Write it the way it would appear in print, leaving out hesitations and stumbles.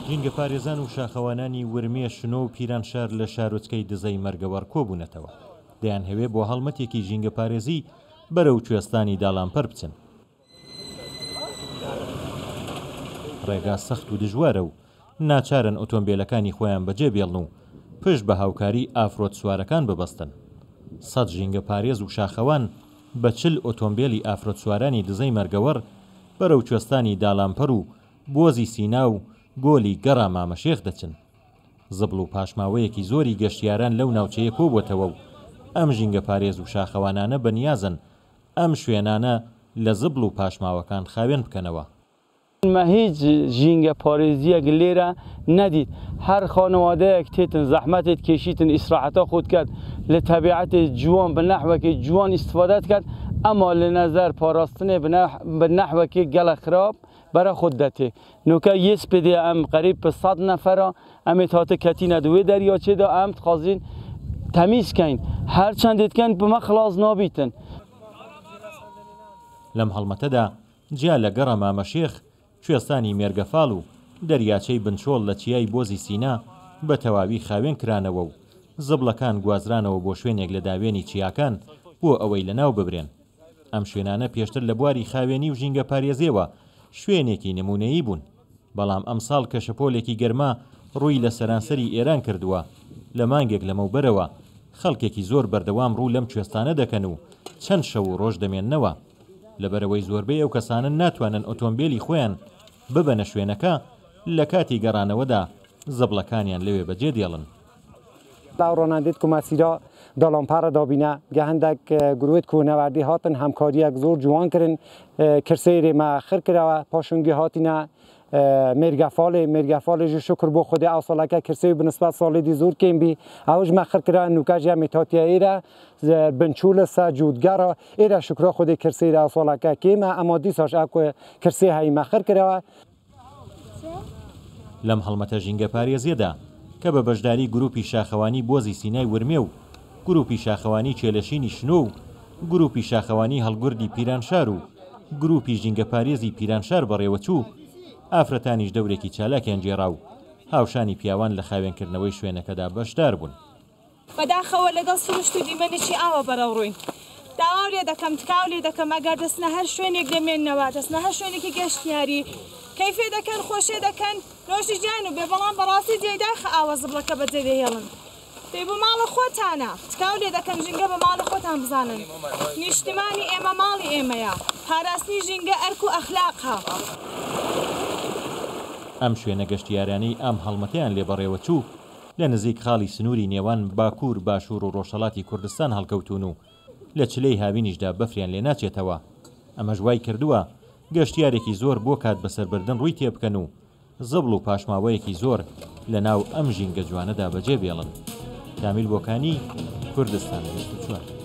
ژینگەپارێزان و شاخەوانانی ورمێ، شنۆ و پیرانشار لە شارۆچکەی دزەی مەرگەوەڕ کۆبوونەتەوە. دەیانهەوێ بۆ هەڵمەتێکی ژینگەپارێزی بەرەو کوێستانی داڵانپەر بچن. ڕێگا سەخت و دژوارە و ناچارن ئۆتۆمبێلەکانی خۆیان بەجێ بێڵن و پشت بە هاوکاری ئافرۆد سوارەکان ببەستن. سەد ژینگەپارێز و شاخەوان بە 40 ئۆتۆمبێلی ئافرۆد سوارانی دزەی مەرگەوەڕ بەرەو کوێستانی دالانپەر و بۆزی سینا و گۆلی گەڕا مامەشێخ دەچن. زبڵ و پاشماوەیەکی زۆری گەشتیاران لەو ناوچەیە کۆبووەتەوە و ئەم ژینگەپارێز و شاخەوانانە بەنیازن ئەم شوێنانە لە زبڵ و پاشماوەکان خاوێن بکەنەوە. مە هیچ ژینگە پارێزیەک لێرە نەدیت هەر خانەوادەیەک تێتن زەحمەتێت کێشیتن ئیسراحەتا خۆت کەت لە تەبیعەتێ جوان بە نەحوەکێ جوان ئیستفادەت کەت ئەما لە نەزەر پاراستنێ بە نەحوەکێ گەلە خراپ بەرە خۆت دەتێ نوکە یس پێدێ ئەم قەریب پە سەد نەفەرە ئەمێ تاتە کەتینە دوێ دەریاچێدا ئەم تخوازین تەمیز کەین هەر چەندێت کەن بمە خلاص نابیتن. لەم هەڵمەتەدا جیا لە گەڕە مامەشێخ، کوێستانی مێرگەفاڵ و دەریاچەی بنچۆڵ لە چیای بۆزی سینا بە تەواوی خاوێن کرانەوە و زبڵەکان گوازرانەوە بۆ شوێنێک لە داوێنی چیاکان بۆ ئەوەی لەناو ببرێن. ئەم شوێنانە پێشتر لە بواری خاوێنی و ژینگەپارێزییەوە شوێنێکی نموونەیی بوون، بەڵام ئەمساڵ کە شەپۆلێکی گەرما ڕووی لە سەرانسەری ئێران کردووە، لە مانگێک لەمەوبەرەوە خەڵکێکی زۆر بەردەوام ڕوو لەم کوێستانە دەکەن و چەند شەو و ڕۆژ دەمێننەوە. لەبەرئەوەی زۆربەی ئەو کەسانە ناتوانن ئۆتۆمبێلی خۆیان ببەنە شوێنەکە، لە کاتی گەڕانەوەدا زبڵەکانیان لەوێ بەجێ دێڵن. ڕۆناندیت کو مەسیرا دالانپەڕ دابینە گە هەندەک گروت کوهنەوەردی هاتن هەمکاریەک زۆر جوان کرن کرسەیرێ مە خر کرەوە پاشونگی هاتینە مێرگەفاڵێ مێرگەفاڵێ ژ شکر بۆ خودێ ئەو ساڵەکە کرسەی بنسبەت ساڵێ دی زۆر کێم بی ئەوش مە خر کرا نوکەژ یەمێ تاتیە ئێرە بنچولە سە جووتگەڕە ئێرە شکرا خودێ کرسەیرە ئەو ساڵەکە کێمە ئەما دیساش ئەو کرسێ هەی مە خر کرەوە. لەم هەڵمەتە ژینگەپارێزییەدا کە بە بەشداری گرووپی شاخەوانی بۆزی سینای ورمێ و گرووپی شاخەوانی کێلەشینی شنۆ و گرووپی شاخەوانی هەڵگوردی پیرانشار و گرووپی ژینگەپارێزی پیرانشار بەڕێوەچوو، ئافرەتانیش دەورێکی چالاکیان گێڕا و هاوشانی پیاوان لە خاوێنکردنەوەی شوێنەکەدا بەشدار بوون. بەداخەوە لەگەڵ سروشت و دیمەنێکی ئاوا بەرەوڕووین. داواو لێ دەکەم، تکاو لێ دەکەم ئەگەر دەچنە هەر شوێنێک دەمێننەوە، دەچنە هەر شوێنێکی گەشتیاری، کەیفێ دەکەن، خۆشێ دەکەن، نۆشی گیان و بێ، بەڵام بەڕاستی جێی داخە ئاوا زبڵەکە بەجێ دەهێڵن. دەی بۆ ماڵە خۆتانە. تکاو لێ دەکەم ژینگە بە ماڵی خۆتان بزانن. نیشتمانی ئێمە ماڵی ئێمەیە. پاراستنی ژینگە ئەرک و ئەخلاقە. ئەم شوێنە گەشتیارانەی ئەم هەڵمەتەیان لێ بەڕێوەچوو، لە نزیک خاڵی سنووری نێوان باکوور، باشوور و ڕۆژهەڵاتی کوردستان هەڵکەوتوون و لە چلەی هاوینیشدا بەفریان لێ ناچێتەوە، ئەمەش وای کردووە گەشتیارێکی زۆر بۆ کات بەسەربردن ڕووی تێبکەن و زبڵ و پاشماوەیەکی زۆر لە ناو ئەم ژینگە جوانەدا بەجێ بێڵن. کامیل بۆکانی، کوردستان 24.